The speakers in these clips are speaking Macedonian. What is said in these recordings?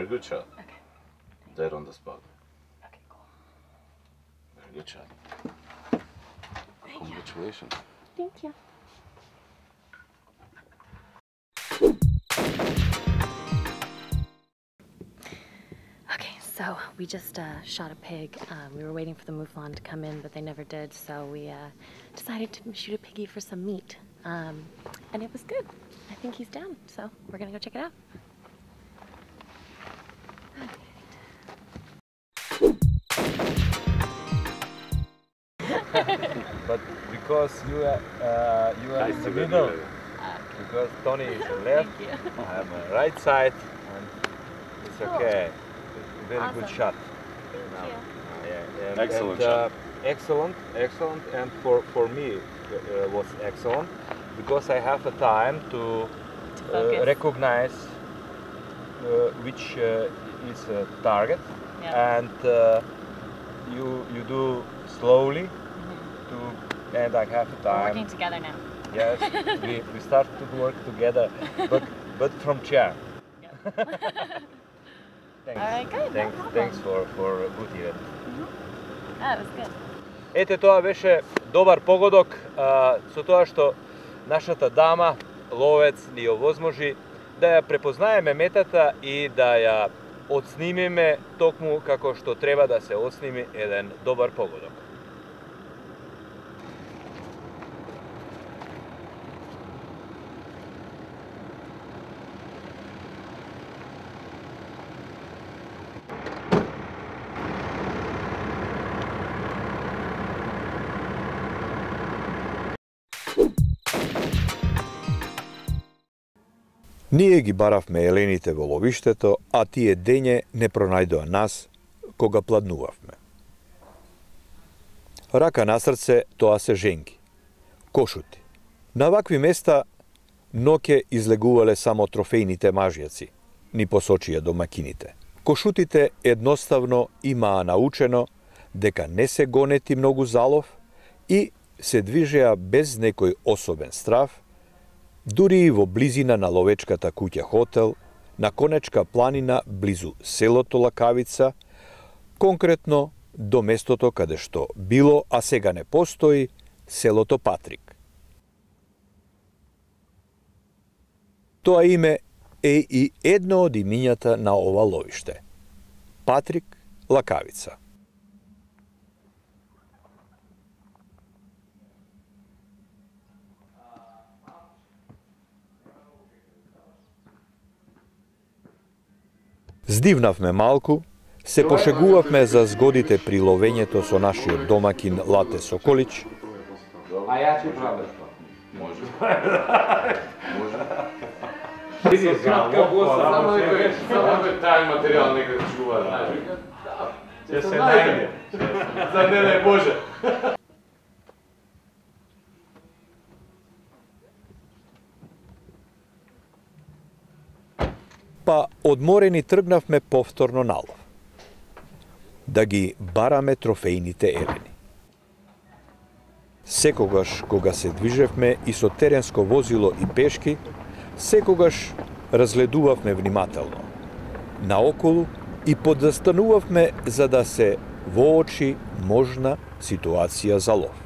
Very good shot. Okay. Dead on the spot. Okay, cool. Very good shot. Thank Congratulations. Thank you. Okay, so we just shot a pig. We were waiting for the mouflon to come in, but they never did, so we decided to shoot a piggy for some meat. And it was good. I think he's down, so we're gonna go check it out. But because you are in the middle, because Tony is the left, I'm on right side, and it's okay. Very good shot. Excellent shot. Excellent, and for me was excellent because I have a time to recognize which is a target, and you do slowly. And I have time. We're working together now. Yes, we start to work together, but from chair. Thanks. All right, good. Thanks for good event. That was good. Ете, тоа беше добар погодок со тоа што нашата дама, ловец, ни овозможи да ја препознаеме метата и да ја отснимиме токму како што треба да се отсними еден добар погодок. Ние ги баравме елените во ловиштето, а тие дење не пронајдоа нас кога пладнувавме. Рака на срце, тоа се женки. Кошути. На вакви места ноќе излегувале само трофејните мажјаци, ни посочија домакините. Кошутите едноставно имаа научено дека не се гонети многу залов и се движеа без некој особен страв, дури и во близина на ловечката куќа хотел, на Конечка планина близу селото Лакавица, конкретно до местото каде што било, а сега не постои, селото Патрик. Тоа име е и едно од имињата на ова ловиште. Патрик Лакавица. Здивнавме малку, се пошегувавме за згодите при ловењето со нашиот домакин Лате Соколич. А ја ќе правам тоа. Може. Може. Кратка госта, само некој тај материјал некој чува, знаеш. Ќе се најде. За не дај Боже. Па одморени тргнавме повторно на лов. Да ги бараме трофејните елени. Секогаш кога се движевме и со теренско возило и пешки, секогаш разгледувавме внимателно, наоколу и подзастанувавме за да се воочи можна ситуација за лов.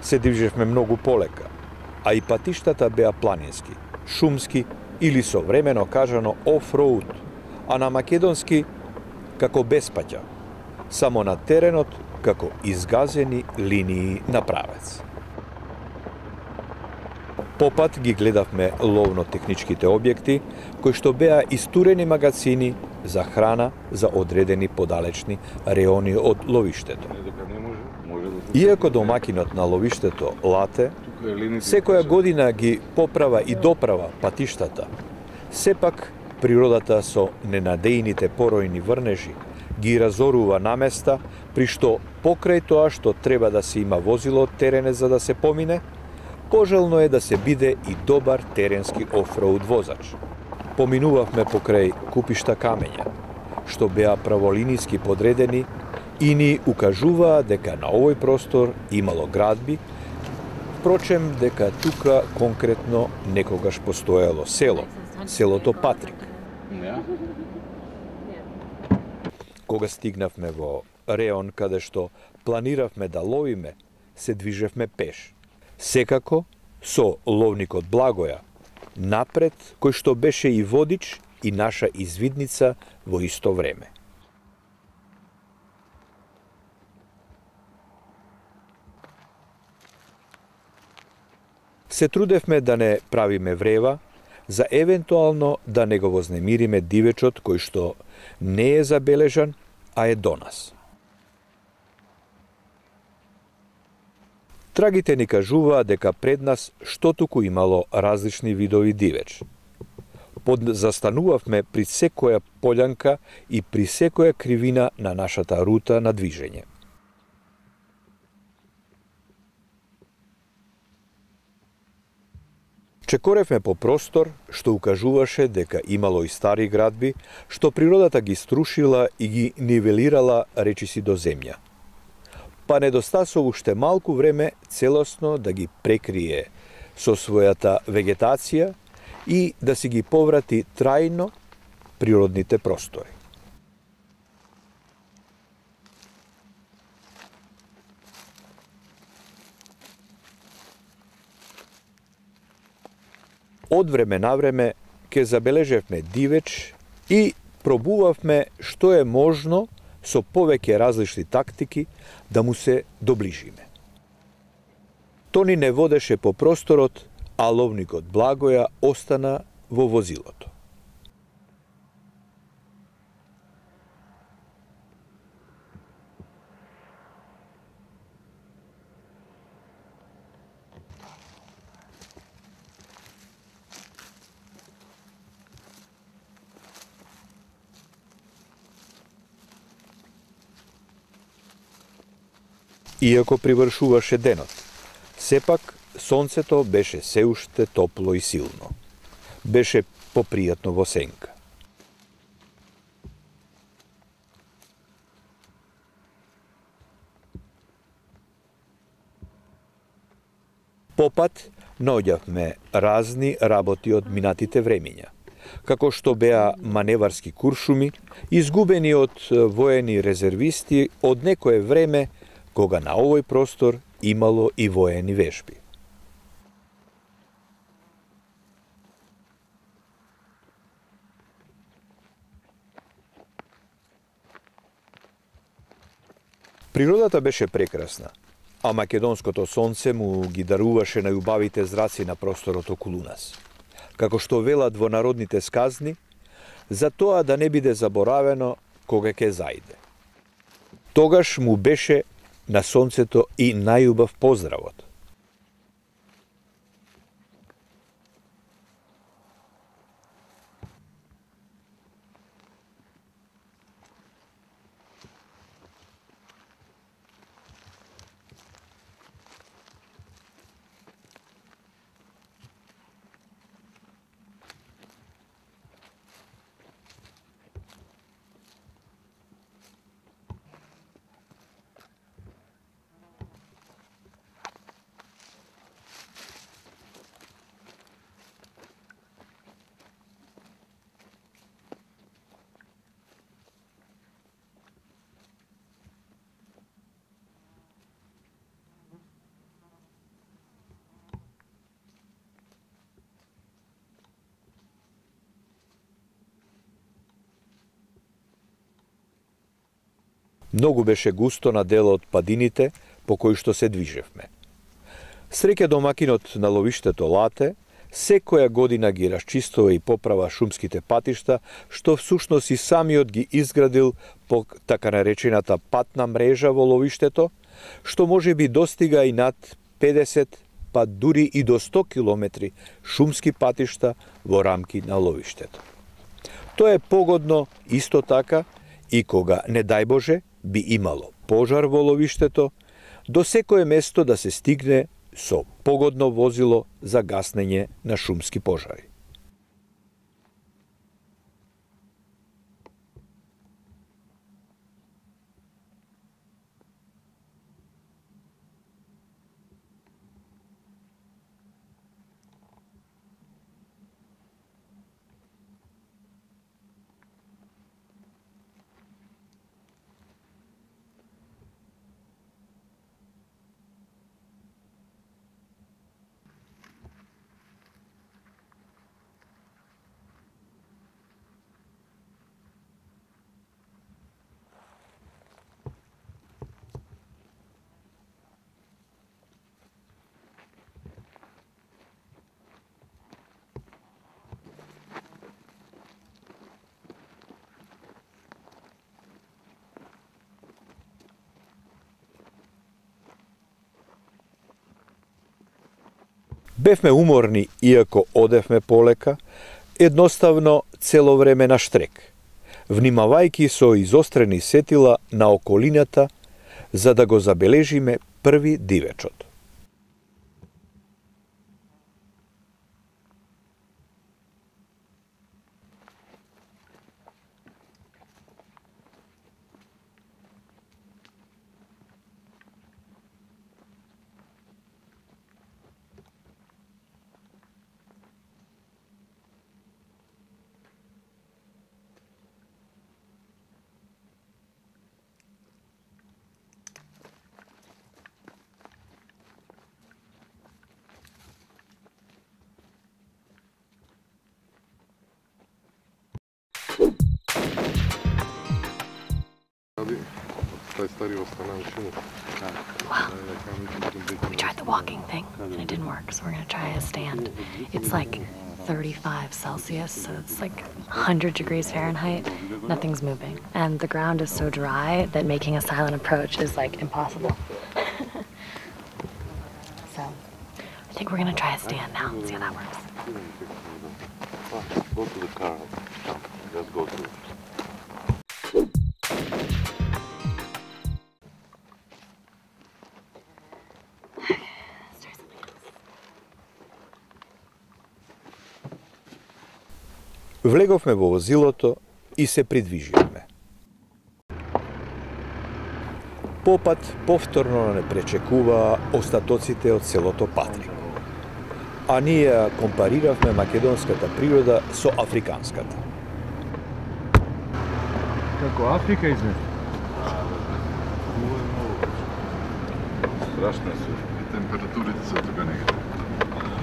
Се движевме многу полека, а и патиштата беа планински, шумски или современо кажано оф-роуд, а на македонски како без паќа, само на теренот како изгазени линии на правец. Попат ги гледавме ловно-техничките објекти, кои што беа истурени магазини за храна за одредени подалечни реони од ловиштето. Иако домакинот на ловиштето Лате секоја година ги поправа и доправа патиштата, сепак природата со ненадејните поројни врнежи ги разорува на места, при што покрај тоа што треба да се има возило од терене за да се помине, пожелно е да се биде и добар теренски офроуд возач. Поминувавме покрај купишта камења, што беа праволиниски подредени и ни укажуваа дека на овој простор имало градби, впрочем дека тука конкретно некогаш постоело село, селото Патрик. Кога стигнавме во реон каде што планиравме да ловиме, се движевме пеш. Секако со ловникот Благоја напред, кој што беше и водич и наша извидница во исто време. Се трудевме да не правиме врева, за евентуално да не го вознемириме дивечот кој што не е забележан, а е до нас. Трагите ни кажуваа дека пред нас штотуку имало различни видови дивеч. Застанувавме при секоја полјанка и при секоја кривина на нашата рута на движење. Чекоревме по простор што укажуваше дека имало и стари градби, што природата ги струшила и ги нивелирала речиси до земја. Па недостасо уште малку време целосно да ги прекрие со својата вегетација и да си ги поврати трајно природните простори. Од време на време ке забележевме дивеч и пробувавме што е можно со повеќе различни тактики да му се доближиме. Тони не водеше по просторот, а ловникот Благоја остана во возилото. Иако привршуваше денот, сепак сонцето беше се уште топло и силно. Беше попријатно во сенка. Попат наоѓавме разни работи од минатите времиња, како што беа маневарски куршуми, изгубени од воени резервисти од некое време кога на овој простор имало и воени вежби. Природата беше прекрасна, а македонското сонце му ги даруваше најубавите зраци на просторот околу нас. Како што велат во народните сказни, за тоа да не биде заборавено кога ќе зајде. Тогаш му беше на сонцето и најубав поздравот. Многу беше густо на дел од падините по кои што се движевме. Среќа домакинот на ловиштето Лате, секоја година ги расчистува и поправа шумските патишта, што всушност и самиот ги изградил по така наречената патна мрежа во ловиштето, што може би достига и над 50, па дури и до 100 километри шумски патишта во рамки на ловиштето. Тоа е погодно исто така и кога, не дај Боже, би имало пожар во ловиштето, до секое место да се стигне со погодно возило за гаснење на шумски пожари. Бевме уморни, иако одевме полека, едноставно цело време на штрек, внимавајќи со изострени сетила на околината, за да го забележиме први дивечот. We tried the walking thing, and it didn't work, so we're going to try a stand. It's like 35 Celsius, so it's like 100 degrees Fahrenheit. Nothing's moving. And the ground is so dry that making a silent approach is like impossible. So I think we're going to try a stand now and see how that works. Go to the car. Just go to it. Влеговме во возилото и се придвиживме. Попат повторно не пречекуваа остатоците од селото Патрик. А ние компариравме македонската природа со африканската. Како Африка изгледа? Страшно се. И температурите се тука негде.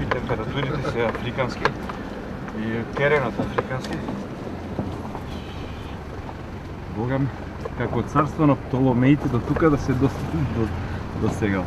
И температурите се африкански. И теренот африкански. Богам, како царство на Птоломеите до тука да се достигал.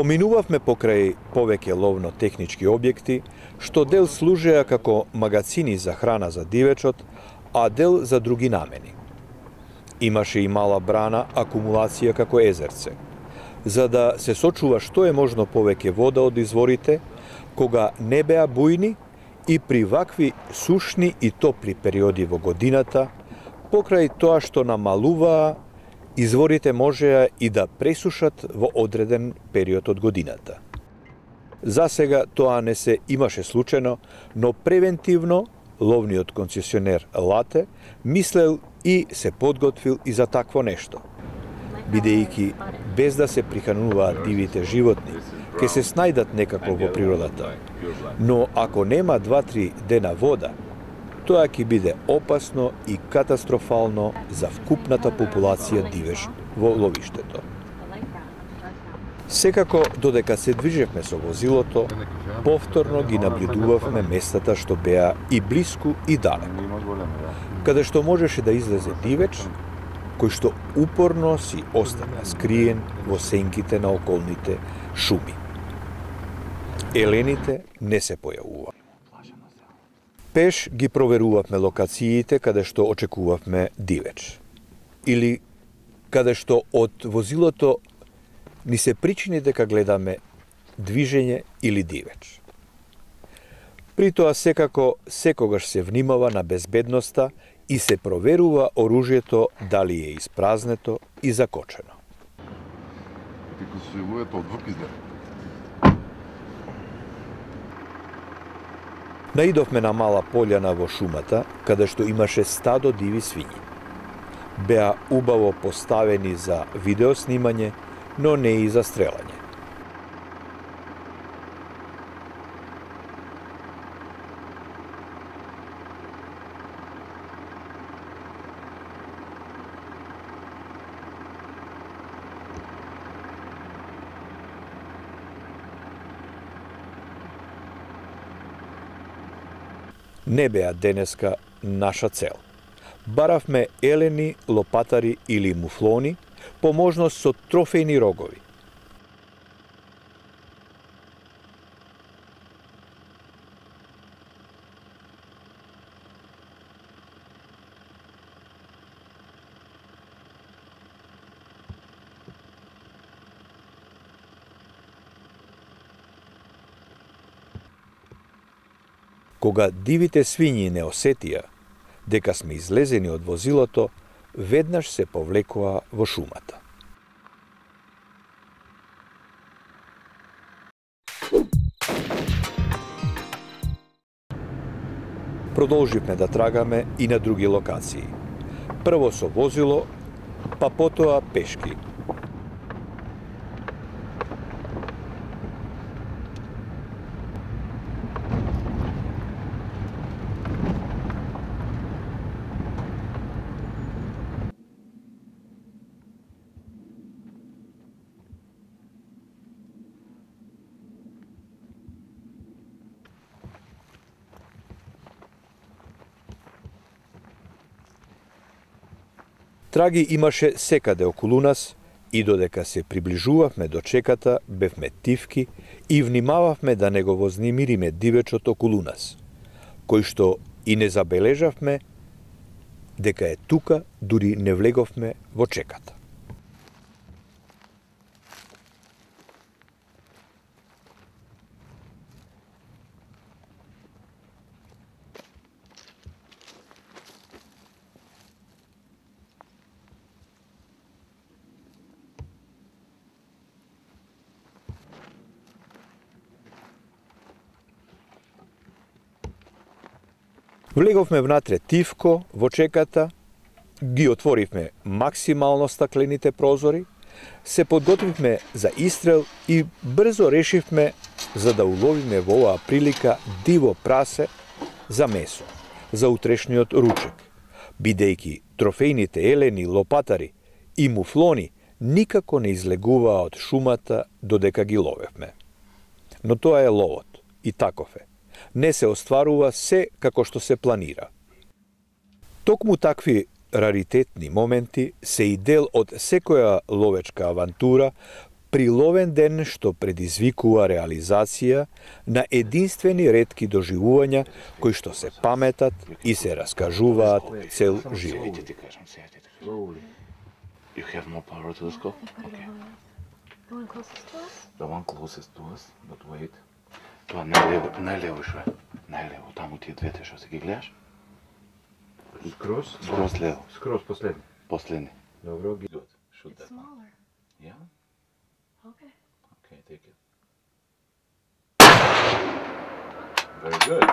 Поминувавме покрај повеќе ловно-технички објекти, што дел служеа како магацини за храна за дивечот, а дел за други намени. Имаше и мала брана акумулација како езерце, за да се сочува што е можно повеќе вода од изворите, кога не беа бујни и при вакви сушни и топли периоди во годината, покрај тоа што намалуваа, изворите можеа и да пресушат во одреден период од годината. За сега тоа не се имаше случајно, но превентивно ловниот концесионер Лате мислел и се подготвил и за такво нешто. Бидејќи без да се прихрануваат дивите животни, ќе се снајдат некако во природата. Но ако нема 2-3 дена вода, тоа ќе биде опасно и катастрофално за вкупната популација дивеч во ловиштето. Секако, додека се движевме со возилото, повторно ги наблюдувавме местата што беа и блиску и далеко, каде што можеше да излезе дивеч, кој што упорно си остана скриен во сенките на околните шуми. Елените не се појавува. Пеш ги проверувавме локациите каде што очекувавме дивеч. Или каде што од возилото ни се причини дека гледаме движење или дивеч. При тоа секако секогаш се внимава на безбедноста и се проверува оружјето дали е испразнето и закочено. Наидовме на мала пољана во шумата, каде што имаше стадо диви свињи. Беа убаво поставени за видеоснимање, но не и за стрелање. Не беа денеска наша цел. баравме елени, лопатари или муфлони, по можност со трофејни рогови. Кога дивите свињи не осетија дека сме излезени од возилото, веднаш се повлекоа во шумата. Продолживме да трагаме и на други локации. Прво со возило, па потоа пешки. Траги имаше секаде околу нас и додека се приближувавме до чеката, бевме тивки и внимававме да не го вознемириме дивечот околу нас, кој што и не забележавме дека е тука, дури не влеговме во чеката. Влеговме внатре тивко во чеката, ги отворивме максимално стаклените прозори, се подготвивме за истрел и брзо решивме за да уловиме во оваа прилика диво прасе за месо, за утрешниот ручек, бидејќи трофејните елени, лопатари и муфлони никако не излегуваа од шумата додека ги ловевме. Но тоа е ловот, и таков е. Не се остварува се како што се планира. Токму такви раритетни моменти се и дел од секоја ловечка авантура при ловен ден што предизвикува реализација на единствени ретки доживувања кои што се паметат и се раскажуваат цел живот. You have more power to the scope? Okay. The one closest to us? The one closest to us, but wait. Тоа најлево шве. Најлево, таму тие двете што се ги гледаш? Скроз? Скроз лево. Скроз последни. Последни. Добро, ги. Good. Shoot that. Smaller. Yeah? Okay. Okay, take it. Very good.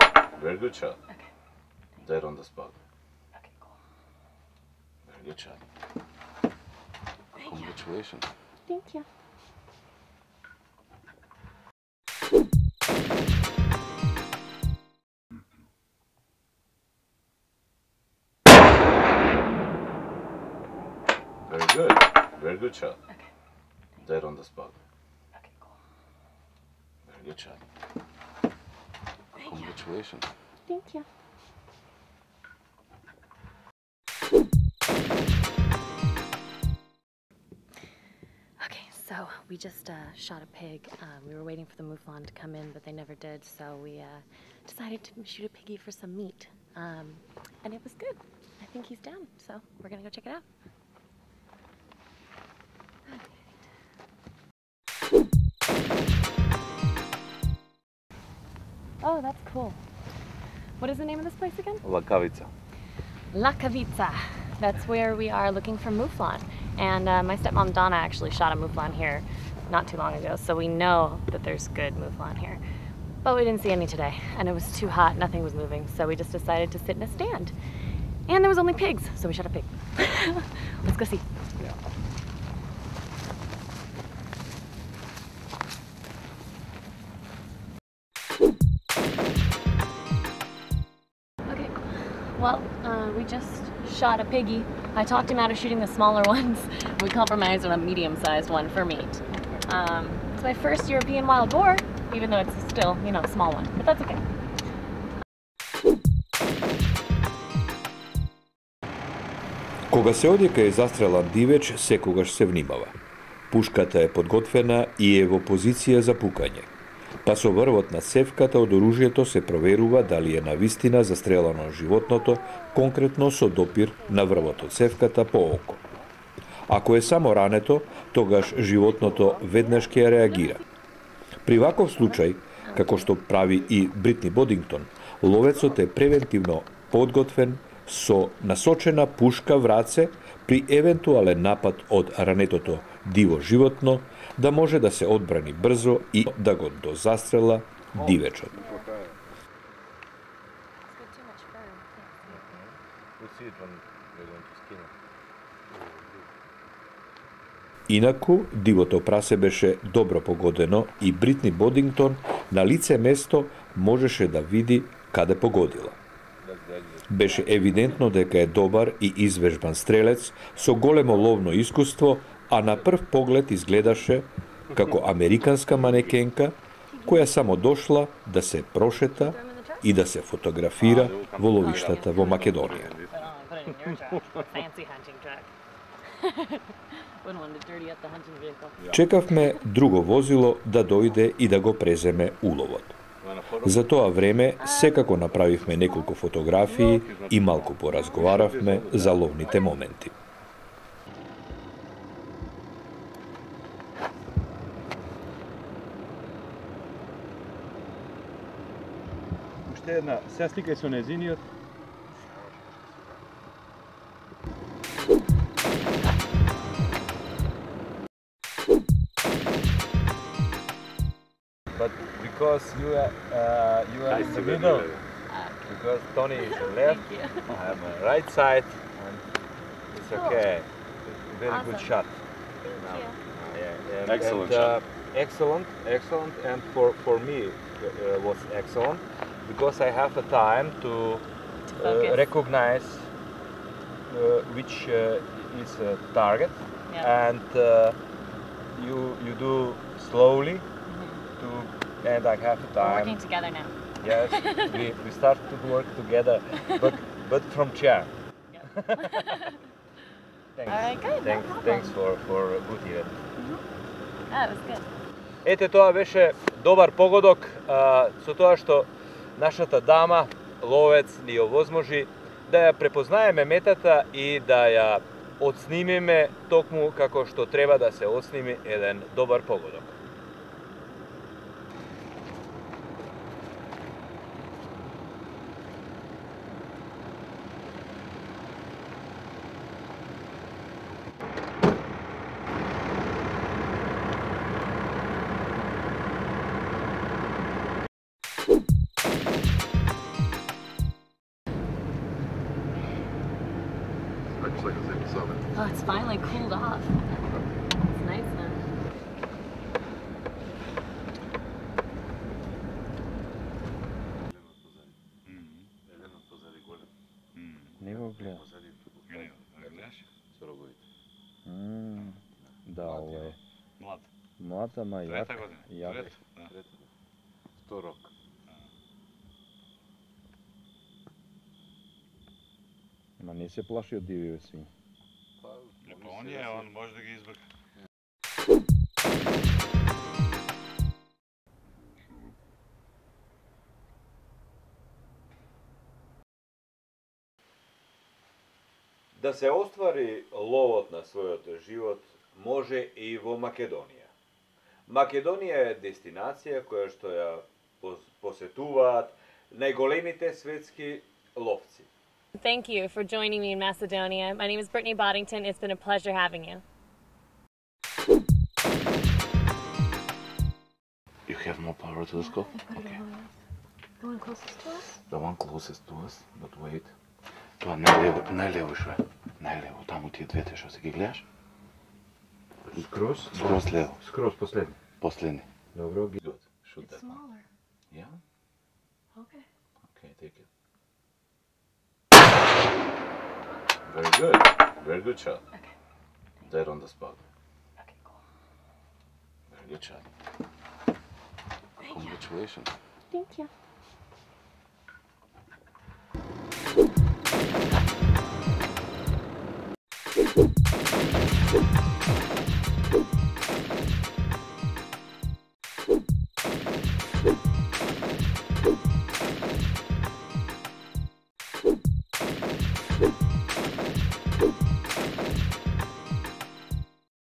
Very good shot. Okay. Dead on the spot. Okay, cool. Very good shot. Thank you. Congratulations. Thank you. Very good. Very good shot. Okay. Dead on the spot. Okay, cool. Very good shot. Thank you. Congratulations. Thank you. Okay, so we just shot a pig. We were waiting for the mouflon to come in, but they never did, so we decided to shoot a piggy for some meat. And it was good. I think he's down, so we're gonna go check it out. Oh, that's cool. What is the name of this place again? Lakavica. Lakavica. That's where we are looking for mouflon. And my stepmom Donna actually shot a mouflon here not too long ago, so we know that there's good mouflon here. But we didn't see any today, and it was too hot, nothing was moving, so we just decided to sit in a stand. And there was only pigs, so we shot a pig. Let's go see. Yeah. Okay, well, we just shot a piggy. I talked him out of shooting the smaller ones. We compromised on a medium-sized one for meat. It's my first European wild boar, even though it's still, you know, a small one, but that's okay. Кога се оди кај застрелан дивеч, секогаш се внимава. Пушката е подготвена и е во позиција за пукање. Па со врвот на цевката од оружјето се проверува дали е навистина застрелано животното, конкретно со допир на врвот од цевката по око. Ако е само рането, тогаш животното веднаш ќе реагира. При ваков случај, како што прави и Бритни Бодингтон, ловецот е превентивно подготвен со насочена пушка в раце при евентуален напад од ранетото диво животно, да може да се одбрани брзо и да го дозастрела дивечот. Инаку, дивото прасе беше добро погодено и Бритни Бодингтон на лице место можеше да види каде погодила. Беше евидентно дека е добар и извежбан стрелец со големо ловно искуство, а на прв поглед изгледаше како американска манекенка која само дошла да се прошета и да се фотографира во ловиштата во Македонија. Чекавме друго возило да дојде и да го преземе уловот. За тоа време секако направивме неколку фотографии и малку поразговаравме за ловните моменти. Уште една, сега сликај со незиниот. But because you are in the middle, because Tony is on left, I'm on right side, and it's okay. Very good shot. Excellent shot. Excellent, and for me was excellent because I have a time to recognize which is a target, and you do slowly. And I have time. We're working together now. Yes, we start to work together, but from chair. Thanks. All right, good. Thanks for good event. That was good. Ете, тоа беше добар погодок со тоа што нашата дама, ловец, ни овозможи да ја препознаеме метата и да ја отснимиме токму како што треба да се отсними еден добар погодок. Oh, it's finally cooled off. It's nice now. Не го гледам. Да, ово е. Млад, ама јак. Јак. Второк. Ма не се плаши од дививе свињи. Он може да ги избрка. Да се оствари ловот на својот живот може и во Македонија. Македонија е дестинација која што ја посетуваат најголемите светски ловци. Thank you for joining me in Macedonia. My name is Brittany Boddington. It's been a pleasure having you. You have more power to the scope? Okay. The one closest to us? The one closest to us, but wait. Тоа најлево шо е. Најлево, таму тие двете што се ги гледаш? Скроз лево. Скроз последни. Последни. Добро, ги. Good. Shoot that. Smaller. Yeah? Okay. Okay, take it. Very good. Very good shot. Okay. Dead on the spot. Okay, cool. Very good shot. Congratulations. Thank you. Thank you.